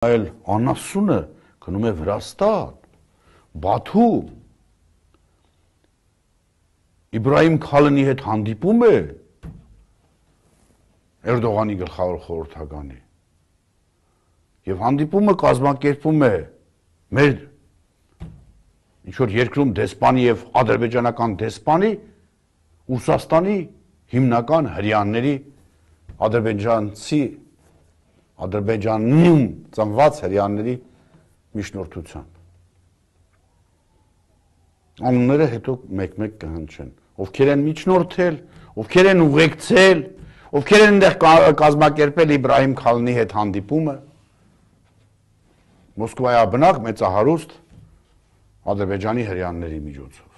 Այլ անասունը գնում է Վրաստան, Բաթում, Իբրահիմ Քալնի հետ հանդիպում է Էրդողանի գլխավոր խորհրդականի եւ հանդիպումը կազմակերպում է մեր ինչ-որ երկրում դեսպանի եւ ադրբեջանական դեսպանի Ռուսաստանի հիմնական հրեաների Ադրբեջանում ծնված հրեաների միջնորդությամբ։ Անունները հետո մեկ-մեկ կհնչեն, ովքեր են միջնորդել, ովքեր են ուղեկցել, ովքեր են այնտեղ կազմակերպել Իբրահիմ Քալնի հետ հանդիպումը, Մոսկվայաբնակ մեծահարուստ Ադրբեջանի հրեաների միջոցով։